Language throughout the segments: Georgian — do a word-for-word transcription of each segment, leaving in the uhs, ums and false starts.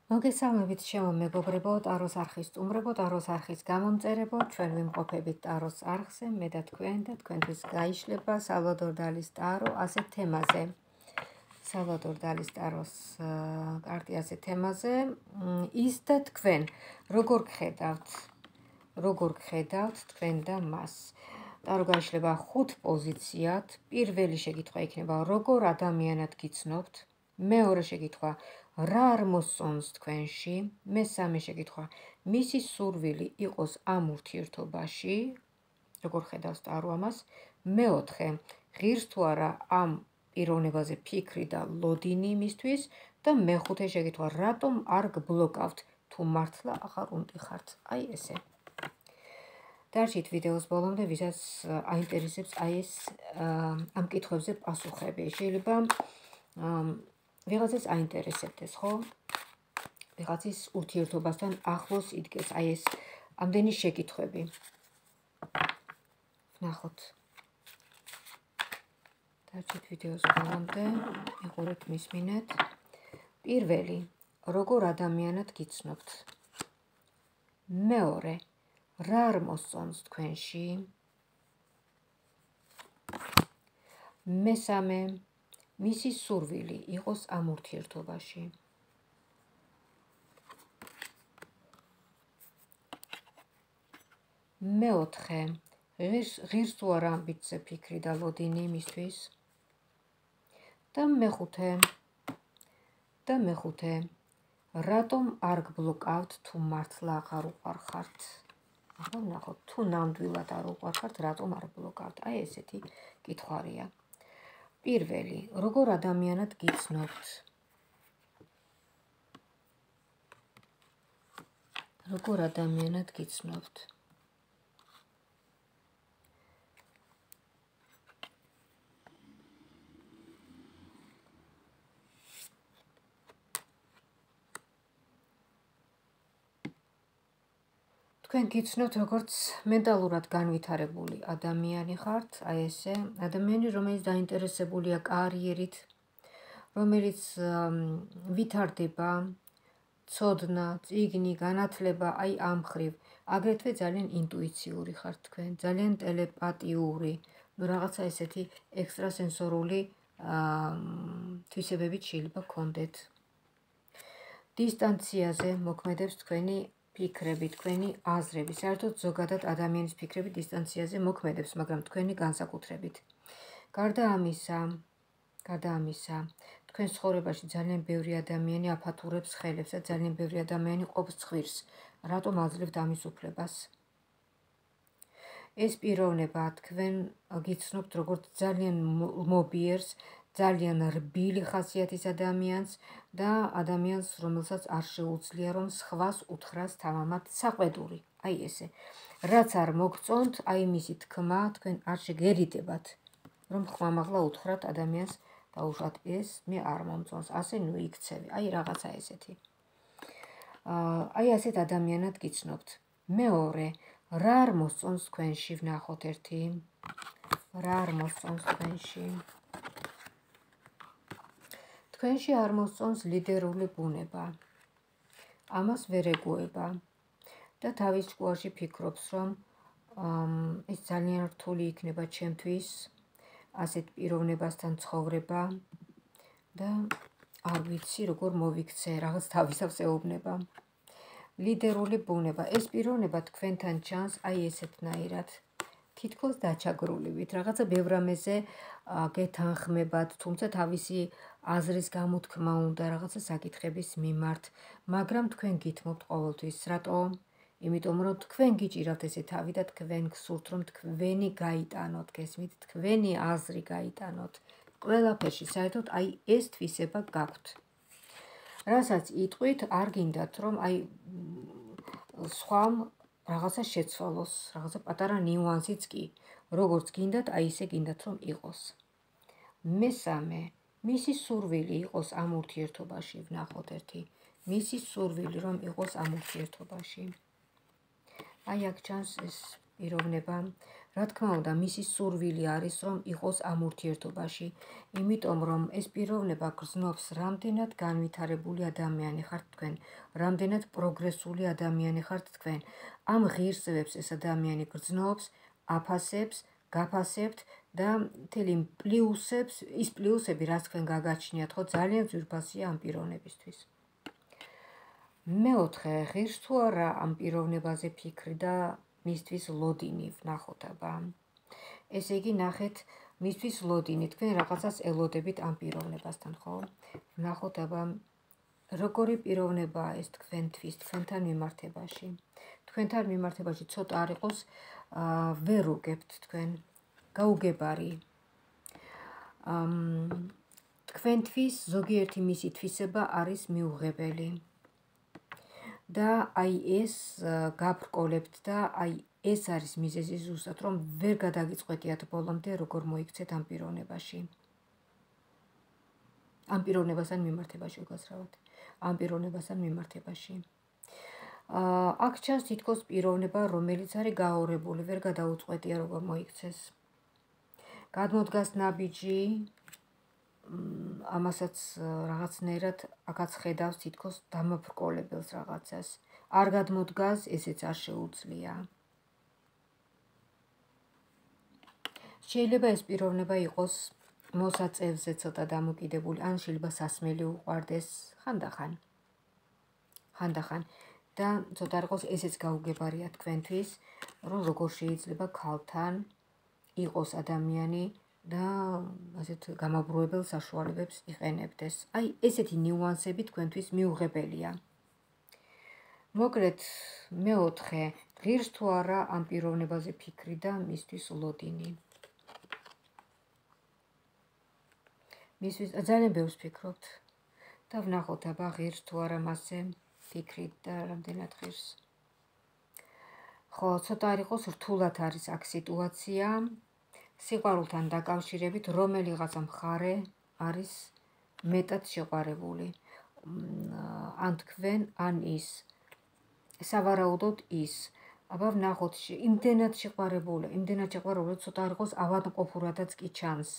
მოგესალმებით ჩემო მეგობრებო, ტაროს არხის სტუმრებო, ტაროს არხის გამომწერებო, ჩვენ ვიმყოფებით ტაროს არხზე, მე და თქვენ და თქვენთვის გაიშლება სალვადორ დალის ტარო ასეთ თემაზე. სალვადორ დალის ტაროს კარტი ასეთ თემაზე, ის და თქვენ, როგორ გხედავთ, როგორ გხედავთ თქვენ და მას. ტარო გაიშლება ხუთ პოზიციად, პირველი შეკითხვა იქნება, როგორ ადამიანად გიცნობთ, მეორე შეკითხვა, რა არ მოსწონს თქვენში, მესამე შეკითხვა, მისი სურვილი იყოს ამ ურთიერთობაში, როგორ ხედავს ტარო ამას, მეოთხე, ღირს თუ არა ამ პიროვნებაზე ფიქრი და ლოდინი იმისთვის და მეხუთე შეკითხვა, რატომ არ გბლოკავთ, თუ მართლა აღარ უნტიხართ, აი ესე. დარჩით ვიდეოს ბოლომდე, ვისაც აინტერესებს აი ეს ამ კითხვებზე პასუხები. შეიძლება ვიღაცას აინტერესებდეს, ხო? ვიღაცის ურთიერთობასთან ახლოს იდგეს აი ეს ამდენი შეკითხვები. ვნახოთ. დარჩით ვიდეოს ბოლომდე, იყურეთ, მისმინეთ. პირველი, როგორ ადამიანად გიცნობთ. მეორე, რა არ მოსწონს თქვენში. მესამე, მისი სურვილი იყოს ამ ურთიერთობაში. მეოთხე, ღირს თუ არა ამბიცზე ფიქრი და ლოდინი იმისთვის. და მეხუთე, და მეხუთე, რატომ არ გბლოკავთ, თუ მართლა აღარ უყვარხართ. ახლა ვნახოთ, თუ ნამდვილად არ უყვარხართ, რატომ არ ბლოკავთ. აი ესეთი კითხვარია. პირველი, როგორ ადამიანად გიცნობთ. როგორ ადამიანად გიცნობთ. თქვენ გიცნობთ, როგორც მენტალურად განვითარებული ადამიანი ხართ, აი ესე, ადამიანი, რომელიც დაინტერესებულია კარიერით, რომელიც ვითარდება, ცოდნა, წიგნი, განათლება, აი ამ ხრივ, აგრეთვე ძალიან ინტუიციური ხართ თქვენ, ძალიან ტელეპათიური, ნუ რაღაცა ესეთი ექსტრასენსორული თვისებებით შეიძლება გქონდეთ. დისტანციაზე მოქმედებს თქვენი ფიქრები, თქვენი აზრები, საერთოდ ზოგადად ადამიანის ფიქრები დისტანციაზე მოქმედებს, მაგრამ თქვენი განსაკუთრებით. გარდა ამისა, გარდა ამისა, თქვენ ცხოვრებაში ძალიან ბევრი ადამიანი აფათურებს ხელებს და ძალიან ბევრი ადამიანი ყოფს ცხვირს. რატომ აძლევთ ამის უფლებას? ეს პიროვნება თქვენ გიცნობთ როგორც ძალიან მობიერს, ძალიან რბილი ხასიათის ადამიანს და ადამიანს, რომელსაც არ შეუძლია, რომ სხვას უთხრას თავამად საყვედური. აი ესე. რაც არ მოგწონთ, აი მისი თქმა, თქვენ არ შეგერიდებათ, რომ ხმამაღლა უთხრათ ადამიანს დაუშვათ ეს მე არ მომწონს, ასე ნუ იქცევი. აი რაღაცა ესეთი. აი ასეთ ადამიანად გიცნობთ. მეორე, რა არ მოსწონს თქვენში, ვნახოთ ერთი. რა არ მოსწონს თქვენში. თქვენში არ მოსწონს ლიდერული ბუნება. ამას ვერ ეგუება. და თავის ჭკუაში ფიქრობს, რომ ეს ძალიან რთული იქნება ჩემთვის, ასეთ პიროვნებასთან ცხოვრება და არ ვიცი როგორ მოვიქცე, რაღაც თავისავს ეუბნება. ლიდერული ბუნება. ეს პიროვნება თქვენთან ჩანს აი ესეთნაირად. თითქოს დაჩაგრულივით, რაღაცა ბევრ რამეზე გეთანხმებათ, თუმცა თავისი აზრის გამოთქმა უნდა რაღაცა საკითხების მიმართ, მაგრამ თქვენ გითმობთ ყოველთვის, რატო? იმიტომ რომ თქვენ გიჭირავთ ესე თავი და თქვენ გსურთ, რომ თქვენი გაიტანოთ, გესმით, თქვენი აზრი გაიტანოთ. ყველაფერში საერთოდ აი ეს თვისება გაქვთ. რასაც იტყვით, არ გინდათ, რომ აი სხვამ რაღაცა შეცვალოს, რაღაცა პატარა ნიუანსიც კი, როგორც გინდათ, აი ისე გინდათ, რომ იყოს. მესამე, მისი სურვილი იყოს ამ ურთიერთობაში, ვნახოთ ერთი. მისი სურვილი რომ იყოს ამ ურთიერთობაში. აი აქ ჩანს ეს პიროვნება. Რა თქმა უნდა, მისი სურვილი არის, რომ იყოს ამ ურთიერთობაში, იმიტომ რომ ეს პიროვნება გრძნობს, რამდენად განვითარებული ადამიანი ხართ თქვენ, რამდენად პროგრესული ადამიანი ხართ თქვენ. ამ ღირსებებს ეს ადამიანი გრძნობს, აფასებს, გაფასებთ და მთელი პლუსებს, ის პლუსები, რაც თქვენ გაგაჩნიათ, ხო, ძალიან ძვირფასია ამ პიროვნებისთვის. მეოთხე, ღირს თუ არა ამ პიროვნებაზე ფიქრი და მისთვის ლოდინი ვნახოთ აბა. ესე იგი, ნახეთ, მისთვის ლოდინი, თქვენ რაღაცას ელოდებით ამ პიროვნებასთან, ხო? ვნახოთ აბა, როგორი პიროვნებაა ეს თქვენთვის, თქვენთან მიმართებაში. თქვენთან მიმართებაში ცოტა არ იყოს, ვერ უგებთ თქვენ, გაუგებარი. თქვენთვის ზოგიერთი მისი თვისება არის მიუღებელი. და აი ეს გაბრკოლებთ და აი ეს არის მიზეზი ზუსტად, რომ ვერ გადაგიწყვეტიათ ბოლომდე როგორ მოიქცეთ ამ პიროვნებაში. ამ პიროვნებასთან მიმართებაში უკაცრავად. ამ პიროვნებასთან მიმართებაში. აქ ჩანს თითქოს პიროვნება, რომელიც არის გაორებული, ვერ გადაუწყვეტია როგორ მოიქცეს. გადმოდგას ნაბიჯი, ამასაც რაღაცნაირად აქაც ხედავს თითქოს დამაბრკოლებელს რაღაცას. არ გადმოდგას, ესეც არ შეუძლია. შეიძლება ეს პიროვნება იყოს მოსაწევზე ცოტა დამოკიდებული, ან შეიძლება სასმელი უყვარდეს ხანდახან. ხანდახან და ცოტა არ იყოს ესეც გაუგებარია თქვენთვის, რომ როგორ შეიძლება ქალთან იყოს ადამიანი და ასეთ გამაბრუებელ საშუალებებს იყენებდეს. აი, ესეთი ნიუანსები თქვენთვის მიუღებელია. მოკლედ, მეოთხე, ღირს თუ არა ამ პიროვნებაზე ფიქრი და მისთვის ლოდინი. მისთვის ძალიან ბევრს ფიქრობთ და ვნახოთ აბა ღირს თუ არა მასზე ფიქრით და რამდენად ღირს. ხო, ცოტა არ იყოს რთულად არის აქ სიტუაცია. სიყვარულთან დაკავშირებით რომელიღაცა მხარე არის მეტად შეყვარებული. ან თქვენ, ან ის. სავარაუდოდ ის. აბა ვნახოთ, იმდენად შეყვარებული, იმდენად შეყვარებული, ცოტა არ იყოს ავადმყოფურადაც კი ჩანს.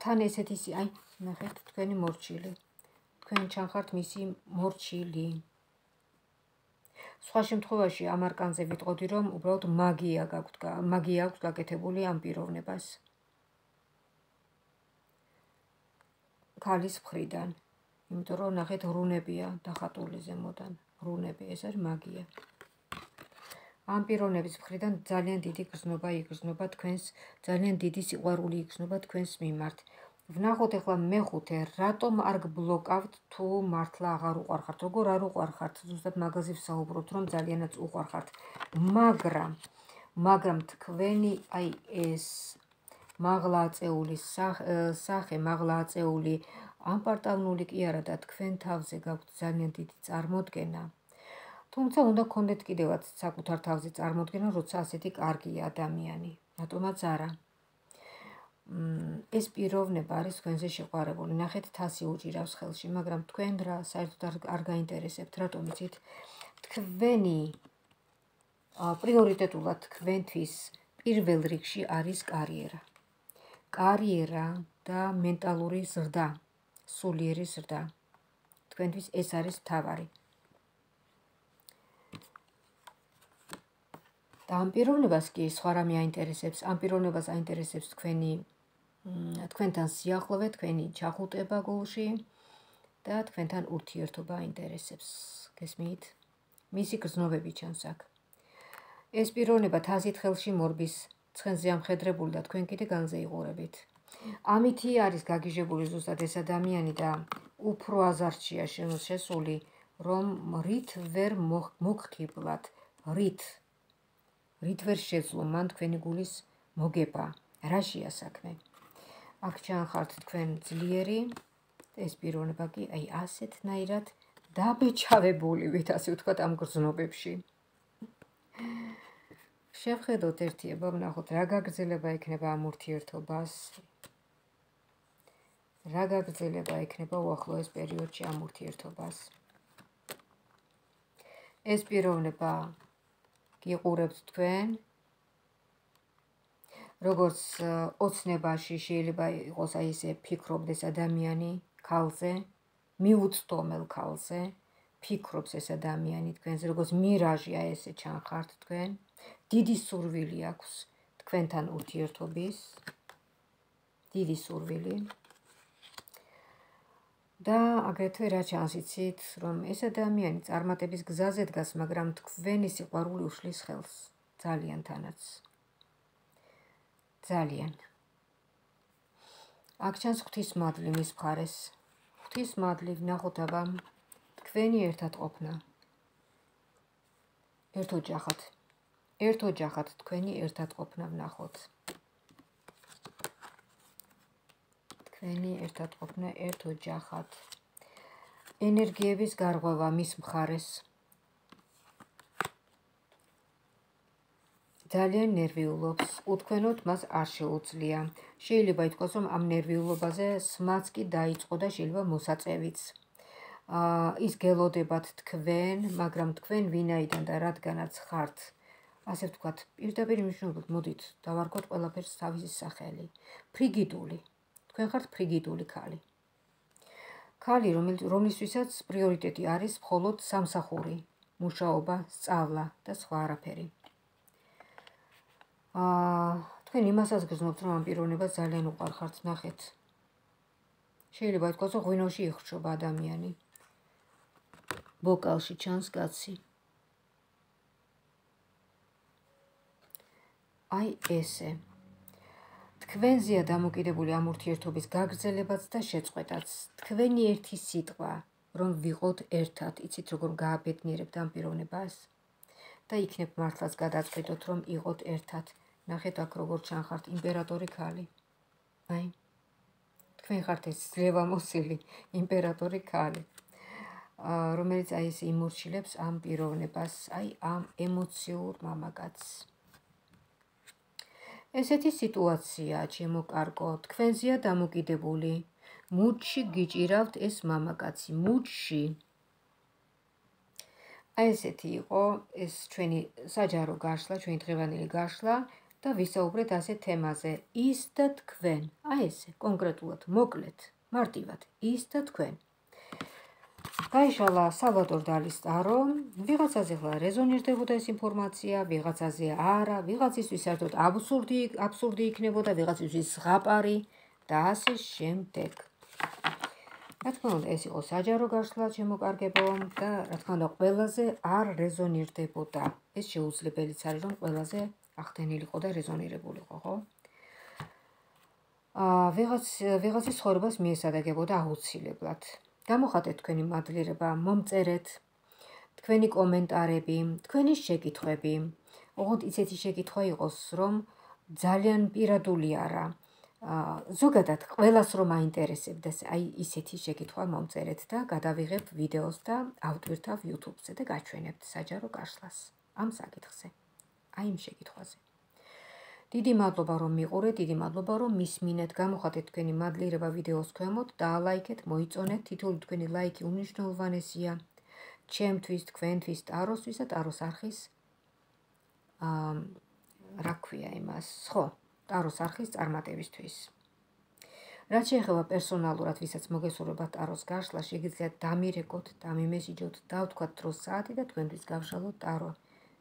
თან ესეთი, აი, ნახეთ, თქვენი მორჩილი. თქვენ ჩანხართ მისი მორჩილი. სხვა შემთხვევაში ამ არკანზე ვიტყოდი, რომ უბრალოდ მაგია გაქვთ, მაგია აქვს გაკეთებული ამ პიროვნებას. ქალის მხრიდან. იმიტომ რომ ნახეთ რუნებია დახატული ზემოდან. რუნები, ეს არის მაგია. ამ პიროვნების მხრიდან ძალიან დიდი გრძნობა იგრძნობა თქვენს, ძალიან დიდი სიყვარული იგრძნობა თქვენს მიმართ. ვნახოთ ახლა მეხუთე, რატომ არ გბლოკავთ თუ მართლა აღარ უყვარხართ, როგორ არ უყვარხართ, ზუსტად მაგაზე ვსაუბრობთ, რომ ძალიანაც უყვარხართ. მაგრამ, მაგრამ თქვენი აი ეს მაღლა აწეული სახე, მაღლა აწეული ამპარტავნული კი არა და თქვენ თავზე გაქვთ ძალიან დიდი წარმოდგენა. თუმცა უნდა გქონდეთ კიდევაც საკუთარ თავზე წარმოდგენა, როცა ასეთი კარგია ადამიანი. რატომაც არა. ეს პიროვნება არის თქვენზე შეყვარებული. ნახეთ, თასი უჭირავს ხელში, მაგრამ თქვენ რა საერთოდ არ გაინტერესებთ, რატომ იცით? თქვენი პრიორიტეტულად თქვენთვის პირველ რიგში არის კარიერა. კარიერა და მენტალური ზრდა, სულიერი ზრდა. თქვენთვის ეს არის მთავარი. და ამ პიროვნებას კი სხვა რამე აინტერესებს, ამ პიროვნებას აინტერესებს თქვენი თქვენთან სიახლოვე, თქვენი ჩახუტება გულში და თქვენთან ურთიერთობა აინტერესებს. გესმით? მისი გრძნობები ჩანს აქ. ეს პიროვნება თასით ხელში მორბის ცხენზე ამხედრებული და თქვენ კიდე განზე იყურებით. ამითი არის გაგიჟებული ზუსტად ეს ადამიანი და უფრო აზარტშია შესული, რომ რით ვერ მოგხიბლათ, რით რით ვერ შეძლო მან თქვენი გულის მოგება, რაშია საქმე. აქ ჩანხართ თქვენ ძლიერი, ეს პიროვნება კი აი ასეთნაირად დაბეჭავებულივით, ასე ვთქვათ, ამ გრძნობებში. შევხედოთ ერთიება, ვნახოთ რა გაგრძელება ექნება ამ ურთიერთობას. რა გაგრძელება ექნება უახლოეს პერიოდში ამ ურთიერთობას. ეს პიროვნება გიყურებთ თქვენ, როგორც ოცნებაში შეიძლება იყოს აი ესე ფიქრობდეს ადამიანი ქალზე, მიუწვდომელ ქალზე, ფიქრობს ეს ადამიანი თქვენზე, როგორც მირაჟი აი ესე ჩანხართ თქვენ, დიდი სურვილი აქვს თქვენთან ურთიერთობის, დიდი სურვილი. და აგრეთვე რა ჩანს იცით, რომ ეს ადამიანი წარმატების გზაზე დგას, მაგრამ თქვენი სიყვარული უშლის ხელს, ძალიან თანაც. ძალიან. აქ ჩანს ღვთისმადლი მის მხარეს. ღვთისმადლი ვნახოთ აბა თქვენი ერთად ყოფნა. ერთ ოჯახად. ერთ ოჯახად თქვენი ერთად ყოფნა ვნახოთ. თქვენი ერთად ყოფნა ერთ ოჯახად. ენერგიების გარღვევა მის მხარეს. ძალიან ნერვიულობს, უთქვენოდ მას არ შეუძლია. შეიძლება ითქვას, რომ ამ ნერვიულობაზე სმაც კი დაიწყო და შეიძლება მოსაწევიც. ის გელოდებათ თქვენ, მაგრამ თქვენ ვინაიდან და რადგანაც ხართ, ასე ვთქვათ, პირდაპირ მნიშვნელობით მოდით დავარქვათ ყველაფერს თავისი სახელი. ფრიგიდული. თქვენ ხართ ფრიგიდული ქალი. ქალი, რომლისთვისაც პრიორიტეტი არის მხოლოდ სამსახური, მუშაობა, სწავლა და სხვა არაფერი. თქვენ იმასაც გრძნობთ, რომ ამ პიროვნებას ძალიან უყვარხართ, ნახეთ. შეიძლება ითქვას, რომ ღვინოში იხრჩობა ადამიანი. ბოკალში ჩანს კაცი. აი ესე. თქვენზეა დამოკიდებული ამ ურთიერთობის გაგრძელებაც და შეწყვეტაც. თქვენი ერთი სიტყვა, რომ ვიყოთ ერთად, იცით როგორ გააბედნიერებთ ამ პიროვნებას და იქნებ მართლაც გადაწყვიტოთ, რომ იყოთ ერთად. ნახეთ აქ როგორ ჩანხართ იმპერატორი ქალი. აი, თქვენ ხართ ეს ძლევამოსილი იმპერატორი ქალი, რომელიც აი ეს იმორჩილებს ამ პიროვნებას, აი ამ ემოციურ მამაკაცს. ესეთი სიტუაცია, ჩემო კარგო, თქვენზეა დამოკიდებული. მუდში გიჭირავთ ეს მამაკაცი, მუდში. აი ესეთი იყო ეს ჩვენი საჯარო გაშლა, ჩვენი დღევანდელი გაშლა და ვისაუბრეთ ასე თემაზე. ის და თქვენ. აი ესე, კონკრეტულად, მოკლედ, მარტივად, ის და თქვენ. გაიშალა სალვადორ დალის ტარო, ვიღაცაზე ხლა რეზონირდებოდა ეს ინფორმაცია, ვიღაცაზე არა, ვიღაცისთვის საერთოდ აბსურდი, აბსურდი იქნებოდა, ვიღაცისთვის ზღაპარი და ასე შემდეგ. რა თქმა უნდა, ეს იყო საჯარო გაშლა, შემოკარგებო და რა თქმა უნდა, ყველაზე არ რეზონირდებოდა. ეს შეუძლებელიც არის, რომ ყველაზე ახდენილიყო და რეზონირებულიყო, ხო? ვიღაც ვიღაცის ცხოვრებას მიესადაგებოდა აუცილებლად. გამოხატეთ თქვენი მადლიერება, მომწერეთ თქვენი კომენტარები, თქვენი შეკითხვები. ოღონდ ისეთი შეკითხვა იყოს, რომ ძალიან პირადული არა. ზოგადად ყველას რომ აინტერესებდეს, აი ისეთი შეკითხვა მომწერეთ და გადავიღებ ვიდეოს და ავტვირთავ YouTube-ზე და გაჩვენებთ საჯარო გაშლას ამ საკითხზე. აი იმ შეკითხვაზე. დიდი მადლობა რომ მიყურეთ, დიდი მადლობა რომ მისმინეთ, გამოხატეთ თქვენი მადლიერება ვიდეოს ქვემოთ, დაალაიქეთ, მოიწონეთ, თითოეული თქვენი ლაიქი უმნიშვნელოვანესია ჩემთვის, თქვენთვის, ტაროსთვის და ტაროს არხის აა რა ქვია იმას, ხო, ტაროს არხის წარმატებისთვის. რაც შეეხება პერსონალურად, ვისაც მოგესურვებათ ტაროს გაშლა, შეგიძლიათ დამირეკოთ, დამიმესიჯოთ, დავთქვათ დროს საათი და თქვენთვის გავშალოთ ტარო.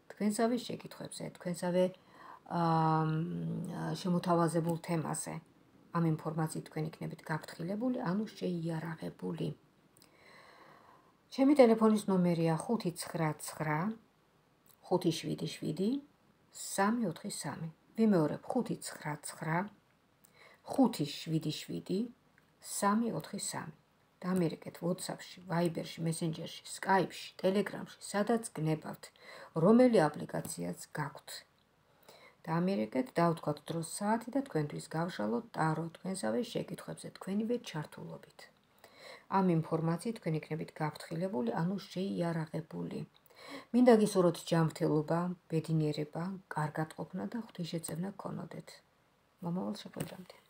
თქვენსავე შეკითხვებზე, თქვენსავე შემოთავაზებულ თემაზე. ამ ინფორმაციით თქვენ იქნებით გაფრთხილებული, ანუ შეიარაღებული. ჩემი ტელეფონის ნომერია ხუთი ცხრა ცხრა ხუთი შვიდი შვიდი სამი ოთხი სამი. ვიმეორებ ხუთი ცხრა ცხრა ხუთი შვიდი შვიდი სამი ოთხი სამი. დამერეკეთ WhatsApp-ში, Viber-ში, Messenger-ში, Skype-ში, Telegram-ში, სადაც გნებავთ, რომელი აპლიკაციაც გაქვთ. დამერეკეთ, დავთქვათ დროს საათი და თქვენთვის გავშალოთ ტარო თქვენსავე შეკითხვებზე, თქვენივე ჩართულობით. ამ ინფორმაციით თქვენ იქნებით გაფრთხილებული, ანუ შეიარაღებული. მინდა გისურვოთ ჯანმრთელობა, ბედნიერება, კარგად ყოფნა და ღვთისშეწევნა გქონოდეთ. მომავალ შეხვედრამდე.